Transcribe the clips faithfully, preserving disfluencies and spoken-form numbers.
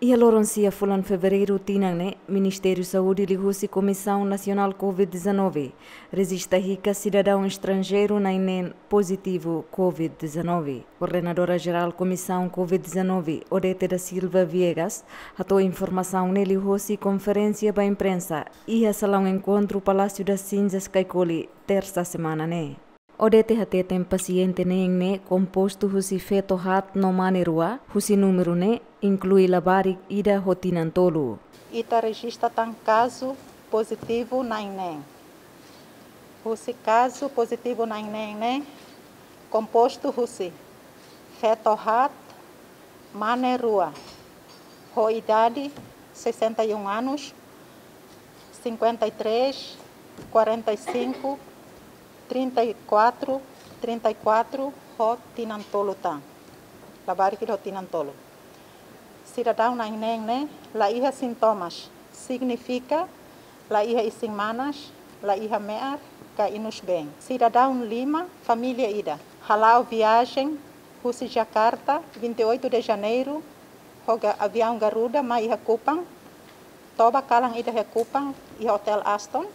Iha loron sia fulan Fevereiru tinan ne'e, Ministériu Saúde liuhusi Komisaun Nasionál Covid dezanove rejista hikas sidadaun estranjeiru na'in-neen pozitivu Covid dezanove. Koordenadora Jerál Komisaun Covid dezanove, Odete da Silva Viegas, hato'o informasaun ne'e liuhusi konferénsia ba imprensa iha salaun enkontru Palácio das Cinzas, Caicoli, tersa semana ne'e. Odete hateten pasiente neen ne'e kompostu husi feto haat no mane rua, husi númeru ne'e inklui labarik ida ho tinan tolu. Ita rejista tan kazu pozitivu na'in-neen. Husi kazu pozitivu na'in-neen ne'e kompostu husi feto haat, mane rua, ho idade sessenta e um anos, cinquenta e três, quarenta e cinco, trinta e quatro, trinta e quatro, ho tinan tolu tan. Labarik ida ho tinan tolu. Sidadaun na'in-neen ne'e la iha sintomas, signifika la iha isin-manas, la iha me'ar ka inus-been. Sidadaun lima, família ida. Hala'o viajen husi Jakarta, vinte e oito de Janeiro, ho ga-, aviaun Garuda mai iha Kupang, toba kalan ida iha Kupang, iha Hotel Aston,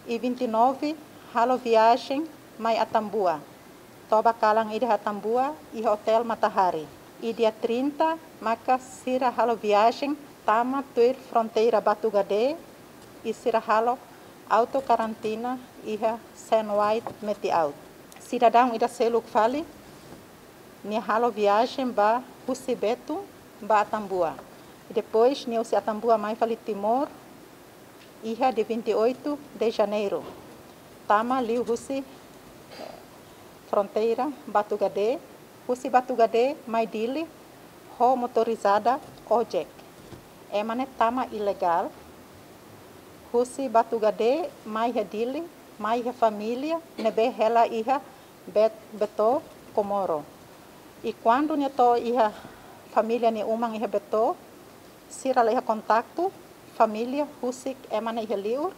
i vinte e nove halo viajen mai Atambua, toba kalan ida iha Atambua, iha Hotel Matahari. I dia trinta maka sira halo viajen tama tuir fronteira Batugade, i sira halo auto-karantina iha Sen White Metiaut. Sidadaun ida seluk fali, nia halo viajen ba husi Betum ba Atambua. I depois nia husi Atambua mai fali Timor, iha dia vinte e oito de Janeiro. Tama liuhusi, eh, fronteira Batugade, husi Batugade mai Dili, ho motorizada ojek. Ema ne'e tama ilegál, husi Batugade mai iha Dili, mai iha família ne'ebé hela iha Bet-, Beto, Komoro. I kuandu nia to'o iha família nia uma iha Beto, sira la iha kontaktu família husik ema ne'e iha liur,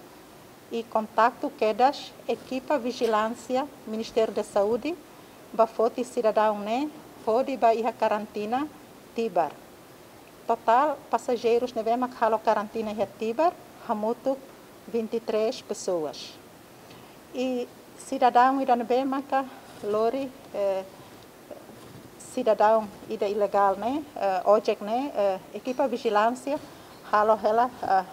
i kontaktu kedas ekipa vijilánsia Ministériu da Saúde ba foti sidadaun ne'e hodi ba iha karantina Tibar. Totál pasajeirus ne'ebé mak halo karantina iha Tibar hamutuk vinte e três pessoas. I sidadaun ida ne'ebé maka lori, eh, sidadaun ida ilegál ne'e, eh, ojek ne'e, eh, ekipa vijilánsia halo hela, eh,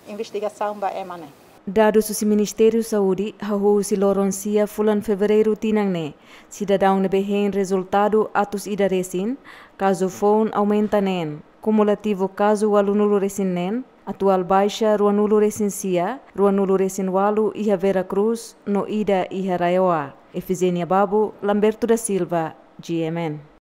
investigasaun ba ema ne'e. Dadus husi Ministériu Saúde, hahú husi loron sia fulan Fevereiru tinan ne'e, sidadaun ne'ebé hein rezultadu atus ida resin, kazu foun aumenta neen. Kumulativu kazu ualunulu resin neen, atuál baixa ruanulu resin sia, ruanulu resin ualu iha Vera Cruz, no ida iha RAEOA. Efigénia Babo, Lamberto da Silva, G M N.